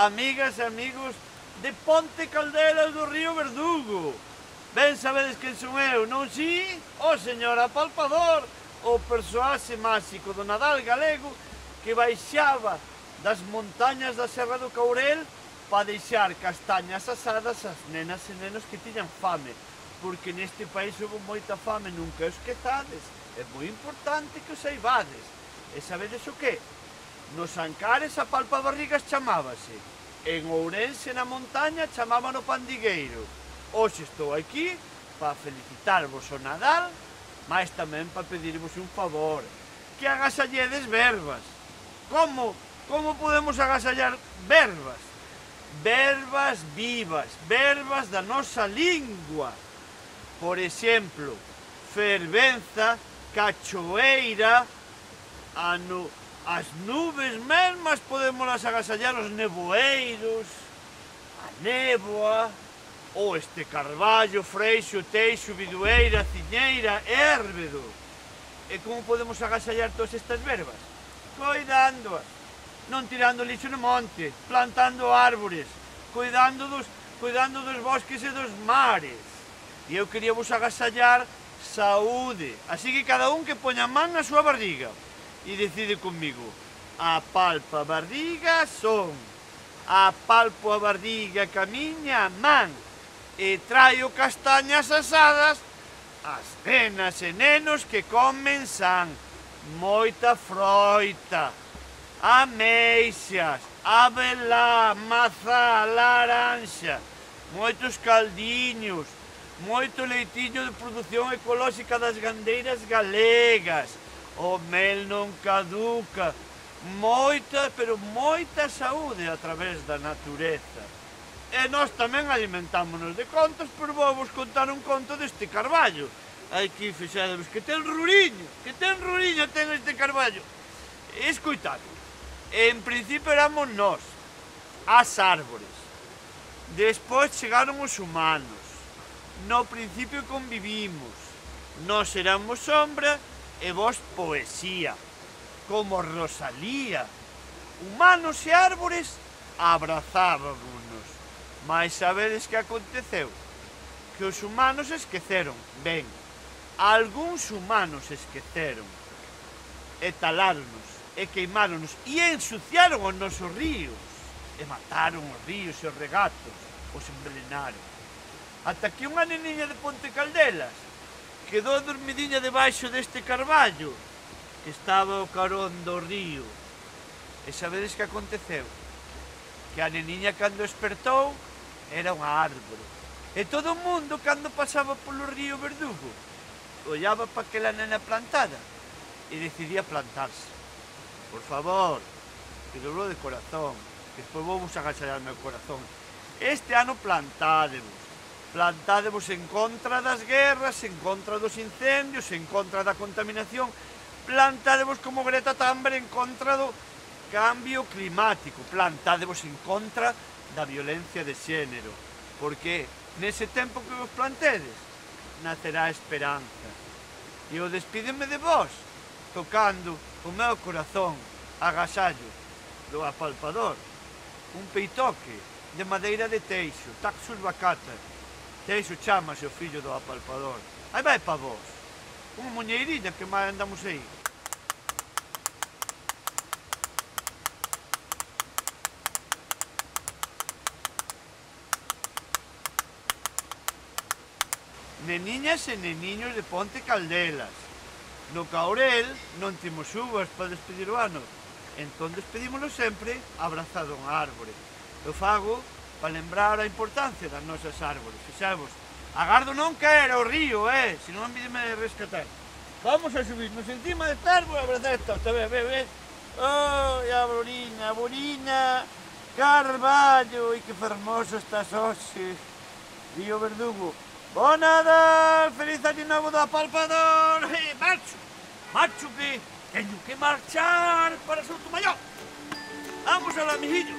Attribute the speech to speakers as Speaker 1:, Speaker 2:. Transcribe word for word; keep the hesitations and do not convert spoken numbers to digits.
Speaker 1: amigas e amigos de Ponte Caldelas do Río Verdugo. Ben sabedes quen son eu, non si? O señor Apalpador, o persoaxe máxico do Nadal galego que baixaba das montañas da Serra do Courel para deixar castañas asadas ás nenas e nenos que tiñan fame, porque neste país houve moita fame, nunca os esquezades, é moi importante que os saibades. E sabedes o que? Nos Ancares a palpabarrigas chamábase, en Ourense na montaña chamaban o pandigueiro. Hoxe estou aquí para felicitarvos o Nadal, mas tamén para pedirvos un favor, que agasalledes verbas. Como? Como podemos agasallar verbas? Verbas vivas, verbas da nosa lingua. Por exemplo, fervenza, cachoeira, ano, as nubes mesmas podemos agasallar, os nevoeiros, a néboa, ou este carballo, freixo, teixo, bidueira, ciñeira, érbedo. E como podemos agasallar todas estas verbas? Coidándoas, non tirando lixo no monte, plantando árbores, cuidando dos, cuidando dos bosques e dos mares. E eu quería vos agasallar saúde, así que cada un que poña man na súa barriga e decide comigo: apalpa a barriga son, apalpo a barriga ca miña man, e traio castañas asadas ás nenas e nenos que comen san, moita froita, ameixas, abelá, mazá, laranxa, moitos caldiños, moito leitiño de produción ecolóxica das gandeiras galegas, o mel non caduca, moita, pero moita saúde a través da natureza. E nós tamén alimentámonos de contos, pero vou vos contar un conto deste carballo. Aquí fixadevos que ten ruriño, que ten ruriño ten este carballo. Escoitade, en principio éramos nós, as árbores. Despois chegaron os humanos. No principio convivimos. Nós éramos sombra e vos poesía, como Rosalía. Humanos e árbores abrazábamos. Mas sabedes que aconteceu? Que os humanos esqueceron, ben, algúns humanos esqueceron, e taláronos, e queimáronos, e ensuciaron os nosos ríos, e mataron os ríos e os regatos, os envelenaron. Ata que unha neniña de Ponte Caldelas quedou dormidiña debaixo deste carballo, que estaba ao carón do río. E sabedes que aconteceu? Que a neniña cando despertou era unha árbore. E todo o mundo, cando pasaba polo río Verdugo, ollaba para aquela nena plantada e decidía plantarse. Por favor, que dobro de corazón, que despois vou vos agasallar o meu corazón. Este ano plantádevos, plantádevos en contra das guerras, en contra dos incendios, en contra da contaminación, plantádevos como Greta Thunberg en contra do cambio climático, plantádevos en contra da violencia de xénero, porque nese tempo que vos plantedes nacerá a esperanza. E eu despídeme de vos tocando o meu corazón agasallo do Apalpador, un peitoque de madeira de teixo, Taxus bacata. Teixo chamase o fillo do Apalpador. Aí vai pa vos, unha muñeiriña que máis andamos aí. Neniñas e neniños de Ponte Caldelas. No Courel non temos uvas para despedir o ano, entón despedímoslo sempre abrazado a unha árbore. Eu fago para lembrar a importancia das nosas árbores. Fixavos, agardo non caer ao río, eh, se non me rescatar. Vamos a subirnos encima de árbore e abrazar esta, ve, ve, ve. Oh, a Borina, a Borina, Carballo, e que fermoso estás hoxe, Río Verdugo. Bo Nadal, feliz año novo do Apalpador. Eh, marcho, marcho que teño que marchar para Soutomaior. Vamos alá, mijillos.